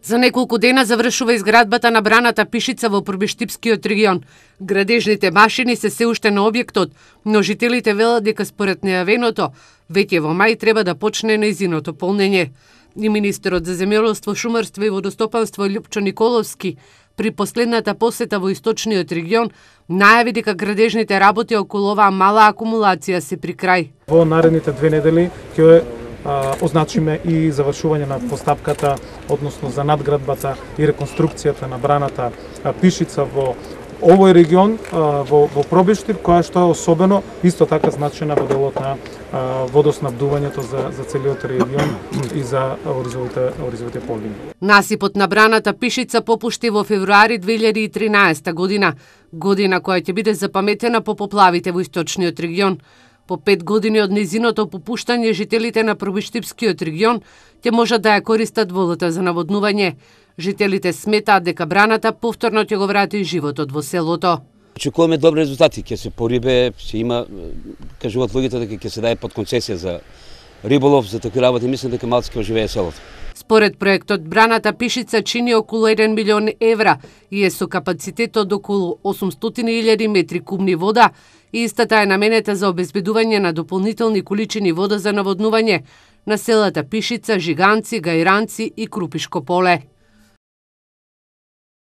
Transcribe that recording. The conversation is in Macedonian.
За неколку дена завршува изградбата на браната Пишица во Пробиштипскиот регион. Градежните машини се уште на објектот, но жителите велат дека според најавеното, веќе во мај треба да почне нејзиното полнење. И министерот за земјоделство, шумарство и водостопанство Љупчо Николовски при последната посета во источниот регион најави дека градежните работи околу оваа мала акумулација се при крај. Во наредните 2 недели ќе означиме и завршување на постапката, односно за надградбата и реконструкцијата на браната Пишица во овој регион, во Пробиштип, која што е особено исто така значена во делот на водоснабдувањето за целиот регион и за оризовите полини. Насипот на браната Пишица попушти во февруари 2013 година која ќе биде запаметена по поплавите во источниот регион. По 5 години од нејзиното попуштање, жителите на Пробиштипскиот регион ќе можат да ја користат водата за наводнување. Жителите сметаат дека браната повторно ќе го врати животот во селото. Очекуваме добри резултати, ќе се порибе, ќе има, кажуваат луѓето дека ќе се даде под концесија за риболов, за такви работи, мислам дека малку ќе оживее селото. Според проектот, браната Пишица чини околу 1 милион евра и е со капацитет од околу 800.000 метри кубни вода и истата е наменета за обезбедување на дополнителни количини вода за наводнување на селата Пишица, Жиганци, Гајранци и Крупишко поле.